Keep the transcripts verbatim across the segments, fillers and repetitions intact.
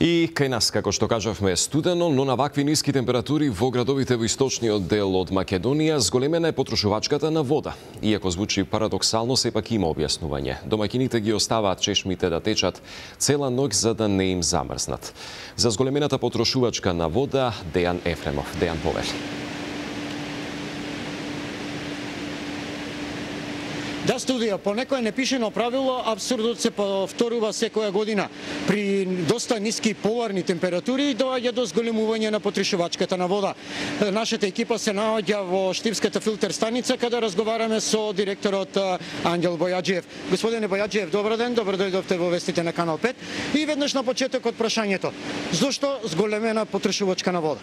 И кај нас, како што кажавме, е студено, но на вакви ниски температури во градовите во источниот дел од Македонија зголемена е потрошувачката на вода. Иако звучи парадоксално, сепак има објаснување. Домаќините ги оставаат чешмите да течат цела ноќ за да не им замрзнат. За зголемената потрошувачка на вода, Дејан Ефремов. Дејан, повели. Да, студија, по некое непишено правило, апсурдот се повторува секоја година. При доста ниски поларни температури доаѓа до зголемување на потрошувачката на вода. Нашата екипа се наоѓа во Штипската филтер станица, каде разговараме со директорот Ангел Бојаджиев. Господине Бојаджиев, добар ден, добро дојдовте во вестите на Канал пет. И веднаш на почетокот прашањето. Зошто зголемена потрошувачка на вода?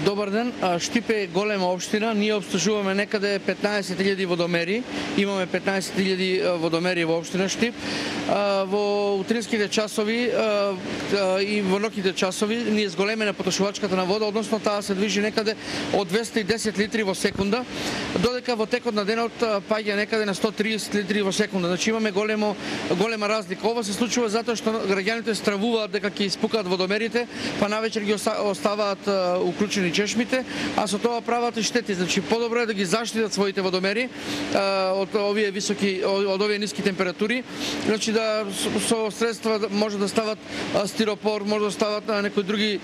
Добар ден, Штип е голема општина, ние обслужуваме некаде петнаесет илјади водомери, имаме петнаесет илјади водомери во општина Штип. Во утринските часови и во ноќните часови ние зголемена потрошувачката на вода, односно таа се движи некаде од двесте и десет литри во секунда, додека во текот на денот паѓа некаде на сто и триесет литри во секунда. Значи имаме големо голема разлика. Ова се случува затоа што граѓаните стравуваат дека ќе испукаат водомерите, па навечер ги оставаат уклучени чешмите, а со тоа прават и штети. Значи подобро е да ги заштитат своите водомери од овие високи од овие ниски температури. Значи да со средства може да стават стиропор, може да стават некои други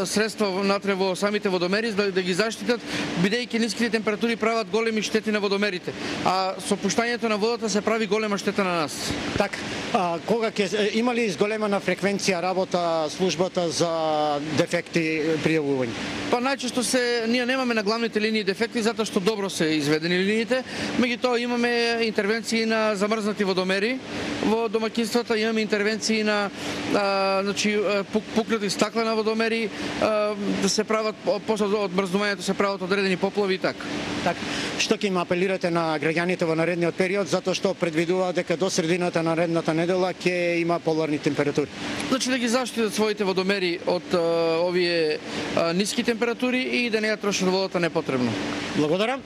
средства внатре во самите водомери да, да ги заштитат, бидејќи ниските температури прават големи штети на водомерите. А со пуштањето на водата се прави голема штета на нас. Так, а, кога ќе има ли зголемена фреквенција работа службата за дефекти пријавување? Па најчесто се ние немаме на главните линии дефекти затоа што добро се изведени линиите, меѓутоа имаме интервенции на замрзнати водомери во домаќинствата, имаме интервенции на а, значи пук, пукнати стакла на водомери, а, да се прават после од мрзнувањето се прават одредени поплави и така. Так, што ќе им апелирате на граѓаните во наредниот период затоа што предвидува дека до средината на наредната недела ќе има поларни температури? Значи да ги заштитат своите водомери од а, овие а, ниски температури и да не ја трошат водата непотребно. Благодарам.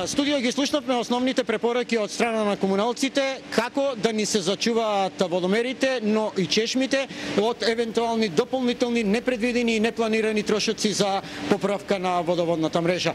Студио ги слушнавме основните препораки од страна на комуналците како да ни се зачуваат водомерите, но и чешмите од евентуални дополнителни непредвидени и непланирани трошоци за поправка на водоводната мрежа.